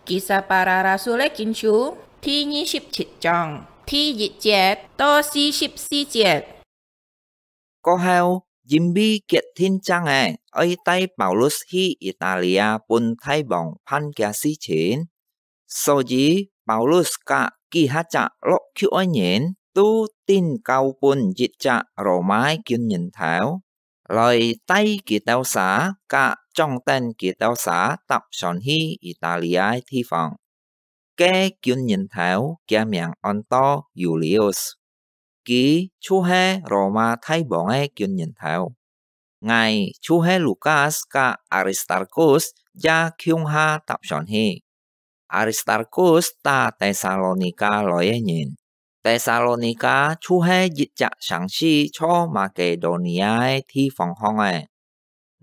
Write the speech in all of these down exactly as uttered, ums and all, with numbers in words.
Kisah Para Rasul-é Kinsú第二十七章第一節到四十四節。過後，因為決定正仔愛帶Paulus去Italia分大王辦佢事情，所以Paulus佮幾下隻落腳个人都頂交分一隻羅馬个軍人頭，來帶佢兜儕佮掌等佢兜儕搭船去Italia个地方。該軍人頭佢名安到Julius，佢就係羅馬大王个軍人頭。𠊎就係Lukas佮Aristarkus也共下搭船去。Aristarkus打Tesalonika來个人，Tesalonika就係一隻城市在Makedonia个地方項仔。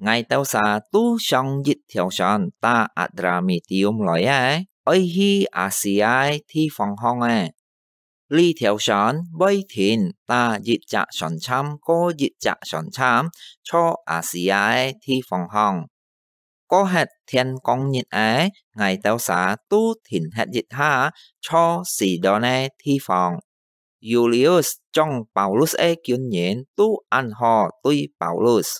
𠊎兜儕都上一條船打Adramyttium來个，愛去Asia个地方項仔。這條船會停打一隻船站過一隻船站，在Asia个地方項。 過忒天光日仔，𠊎兜儕都停歇一下，在Sidon个地方。Julius將Paulus个軍人都恁好對Paulus。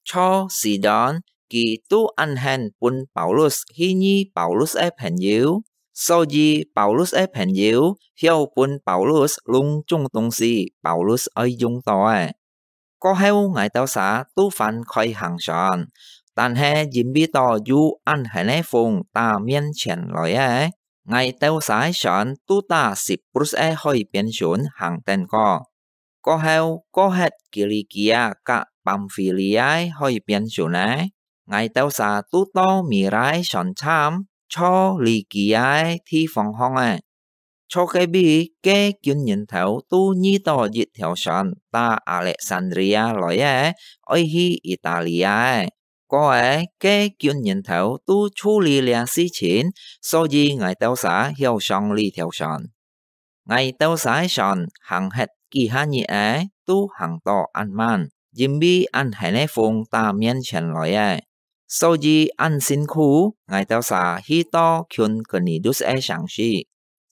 在Sidon，佢都恁肯分Paulus去遇Paulus个朋友，所以Paulus个朋友曉分Paulus攏種東西Paulus愛用到个。 過後𠊎兜儕都還開行船，但係因為到有恁狠个風打面前來个，𠊎兜儕个船都打Cyprus个海邊脣行等過。過後過忒Kilikia佮Pamphylia个海邊脣仔，𠊎兜儕都到Mira个船站，在Likia个地方項仔。 在該位，該軍人頭都遇到一條船打Alexandria來个，愛去Italia个。過仔，該軍人頭都處理這事情，所以𠊎兜儕曉上這條船。𠊎兜儕个船行忒幾下日仔，都行到恁慢，因為恁狠个風打面前來个。 所以恁辛苦，𠊎兜儕去到近Knidus个城市，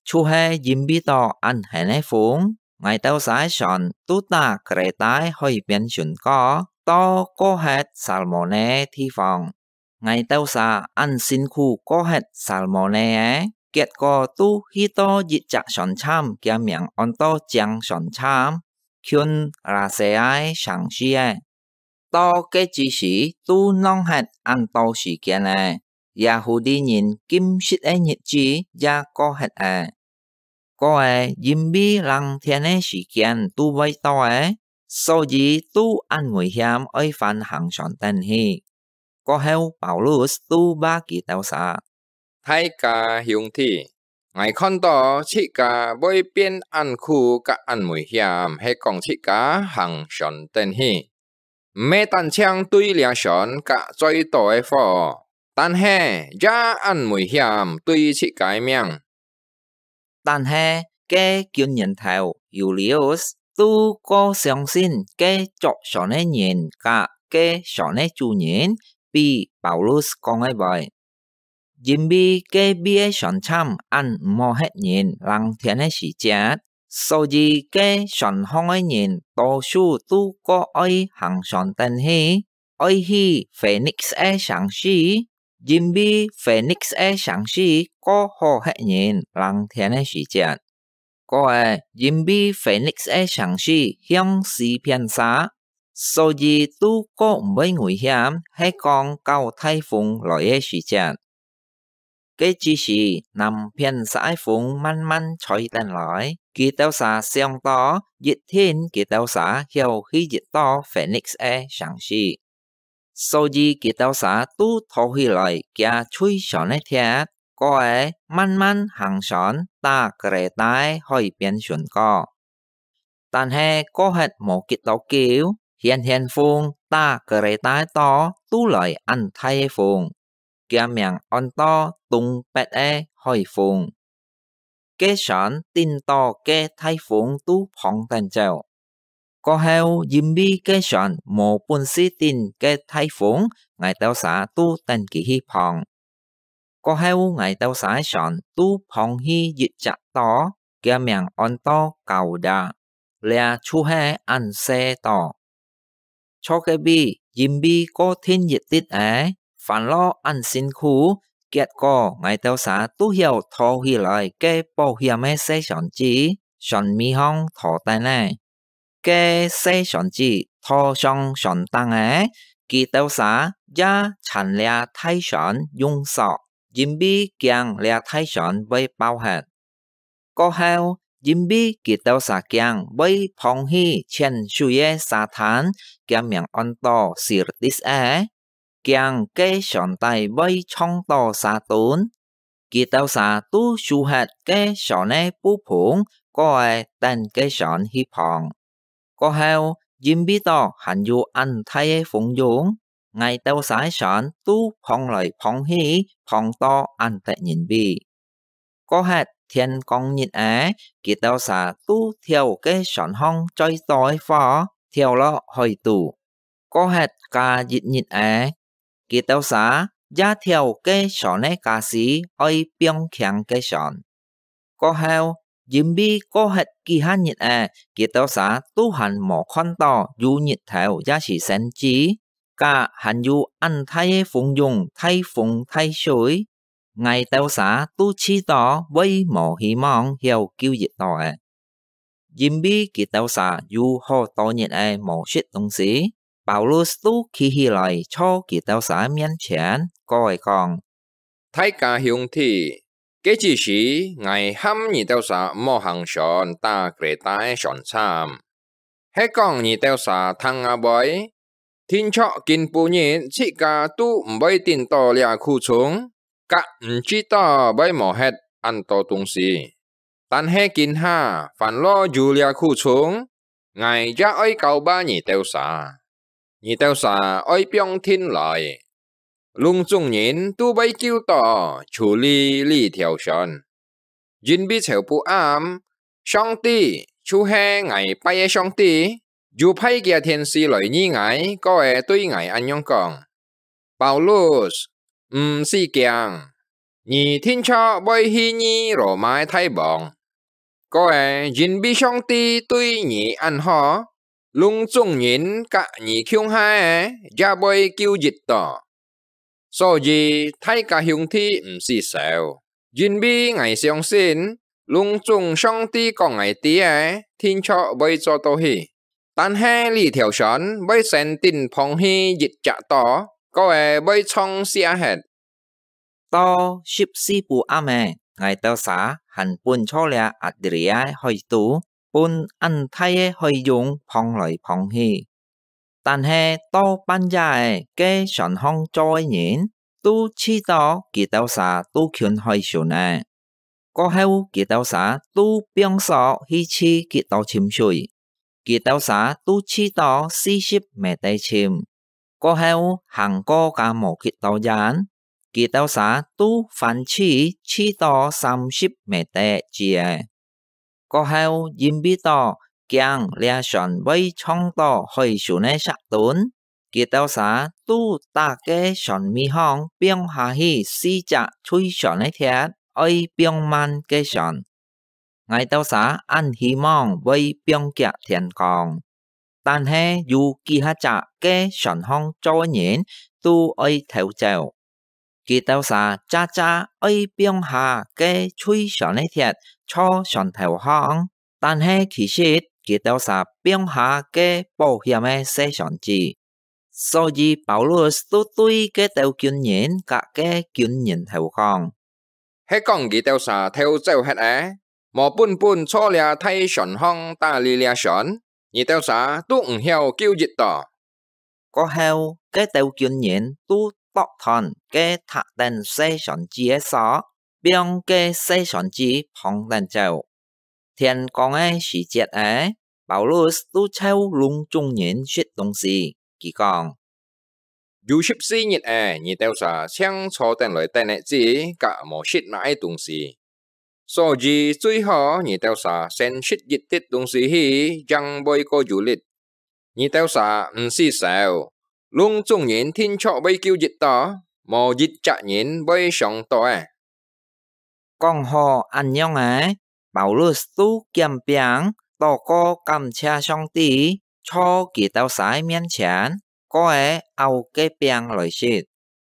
就係因為到恁狠个風，𠊎兜儕个船都打Kreta个海邊脣過，到過忒Salmone个地方。𠊎兜儕恁辛苦過忒Salmone个，結果都去到一隻船站，佢名安到正船站，近Lasea个城市个。 到該之時都浪忒恁多時間了，Yahudi人禁食个日子也過忒了。過仔，因為冷天个時間都會到了，所以都恁危險愛還行船等去。過後，Paulus都話佢兜儕： 大家兄弟，𠊎看到自家會變恁苦佮恁危險，係講自家行船等去，毋係單淨對這船佮載到个貨，但係也恁危險對自家个命。 但係該軍人頭Julius都過相信該著船个人佮該船个主人比Paulus講个會。因為該位个船站恁毋好歇人冷天个時節，所以該船項个人多數都過愛行船等去， 愛去Phoenix个城市，因為Phoenix个城市過好歇人冷天个時節。過仔，因為Phoenix个城市向西偏斜，所以都過毋會危險，係講較大風來个時節。 該之時，南片煞个風慢慢吹等來，佢兜儕想到一定佢兜儕曉去一到Phoenix个城市，所以佢兜儕都䌈起來佢最長个鐵，過仔慢慢行船，打Kreta个海邊巡過。 但係過忒無幾多久，眩眩風打Kreta个島都來恁大个風，厥名安到東北个海風。該船頂到該大風都膨等走。過後，因為該船無本事頂該大風，𠊎兜儕都等佢去膨。過後𠊎兜儕个船都碰去一隻島，厥名安到Kauda，這就係恁細島。坐該位，因為過定一滴仔，煩惱恁辛苦，結果𠊎兜儕都曉拖起來該保險个細船仔，船尾項拖等仔。該細船仔拖上船頂仔，佢兜儕也撐這大船用索，因為驚這大船會爆忒。過後，因為佢兜儕驚會碰去淺水个沙灘，厥名安到Syrtis仔，驚該船底會撞到沙墩，佢兜儕都收忒該船个布篷，過仔等該船去碰。過後，因為到還有恁大个風湧，𠊎兜儕个船都碰來碰去，碰到恁得人畏。過忒天光日仔，佢兜儕都跳該船項載到个貨，跳落海肚。過忒加一日仔，佢兜儕也跳該船个家私，愛放輕該船。過後，因為過忒幾下日仔，佢兜儕都還無看到有日頭也係星仔，加還有恁大个風湧、大風大水，𠊎兜儕都試著會無希望曉救一到仔。因為佢兜儕有好多日仔無食東西，Paulus都企起來坐佢兜儕面前，過仔講：「大家兄弟，該之時𠊎喊你兜儕莫行船打Kreta个船站，係講你兜儕聽吾會，定著今晡日自家都毋會頂到這苦衷，甲毋知道會無忒恁多東西。但係今下，凡落有這苦衷，𠊎也愛交摎你兜儕。你兜儕愛放定來，攏總人都會救到，除離這條船。因為頭晡暗，上帝，就係𠊎拜个上帝，有派厥天使來遇𠊎，過仔對𠊎恁樣講： Paulus，毋使驚，你定著會去遇羅馬个大王。過仔，因為上帝對你恁好，攏總人甲你共下个也會救一到。所以，大家兄弟毋使愁，因為𠊎相信，攏總上帝講𠊎知个，定著會做到去。 但係這條船會先頂碰去一隻島，過仔會撞瀉忒。」到十四晡暗仔，𠊎兜儕還本坐這Adria海肚，分恁大个海湧碰來碰去。但係到半夜仔，該船項做个人都試著佢兜儕都近海脣仔。 過後，佢兜儕都放索去試幾多深水，佢兜儕都試著四十米底深。過後，行過較無幾多遠，佢兜儕都翻試試著三十米底止仔。過後，因為著驚這船會撞著海脣个石墩， 佢兜儕都搭該船尾項放下去四隻推船个鐵，愛放慢該船。𠊎兜儕恁希望會放遽天光，但係有幾下隻該船項做个人都愛偷走。 佢兜儕詐詐愛放下該推船个鐵坐船頭項，但係其實佢兜儕放下該保險个細船仔。所以Paulus都對該兜軍人甲該軍人頭講：「係講佢兜儕偷走忒仔，無本本坐這大船項打理這船，你兜儕都毋曉救一到。」 過後，該兜軍人都剁斷該䌈等細船仔个索，放該細船仔嗙等走。天光个時節仔，Paulus都湊攏總人食東西，佢講：「有十四日仔，你兜儕淨坐等來等个子，甲無食哪个東西。 所以最好你兜儕先食一滴東西去，正會過有力。你兜儕毋使愁，攏總人定著會救一到。」無一隻人會上到个。講好恁樣仔，Paulus就撿餅，禱告感謝上帝，坐佢兜儕面前，過仔拗該餅來食。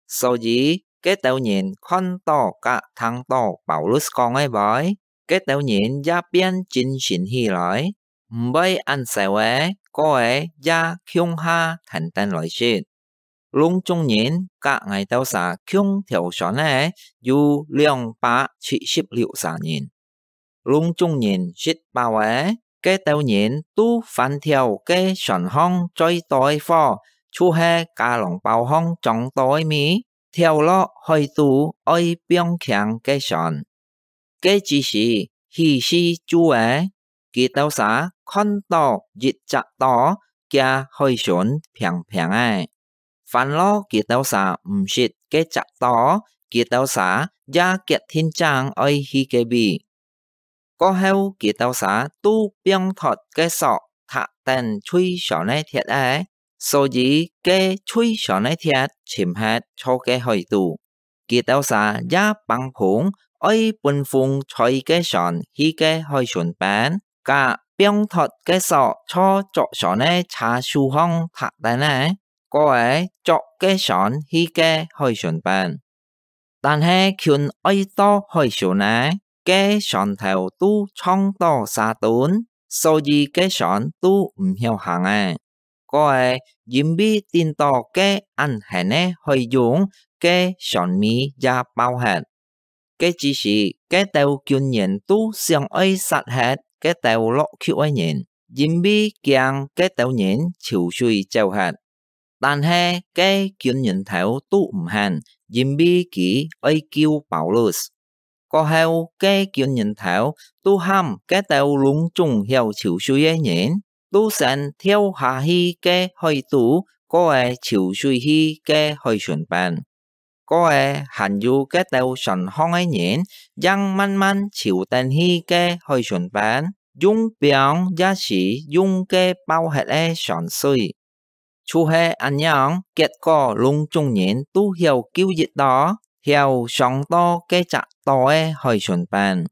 所以，該兜人看到佮聽到Paulus講个話，該兜人也變精神起來，毋會恁愁个，過仔也共下跈等來食。 攏總人佮𠊎兜儕共條船仔有兩百七十六儕人。攏總人食飽仔，該兜人都翻調該船項載到个貨，就係家囊包項裝到个米，跳落海肚愛放輕該船。 該之時，起勢晝仔，佢兜儕看到一隻島，厥海脣平平仔。煩惱佢兜儕毋識該隻島，佢兜儕也決定正愛去該位。過後，佢兜儕都放脫該索，踏等推船个鐵仔，所以該推船个鐵沉忒在該海肚。 佢兜儕也挷篷，愛分風載該船去該海脣邊，佮放脫該索坐著船个車手項踏等仔，過仔著該船去該海脣邊。但係近愛到海脣仔，該船頭都撞到沙墩，所以該船都毋曉行仔。 過仔，因為頂到該恁㤐个海湧，該船尾也爆忒。該之時，該兜軍人都想愛殺忒該兜落去个人，因為驚該兜人泅水走忒。但係該軍人頭都毋肯，因為佢愛救Paulus。 過後，該軍人頭都喊該兜攏總曉泅水个人，都先跳下去該海肚，過仔泅水去該海脣邊。過仔還有該兜船項个人，正慢慢泅等去該海脣邊，用枋也係用該爆忒个船水。 就係恁樣，結果攏總人都曉救一到，曉上到該隻島个海脣邊。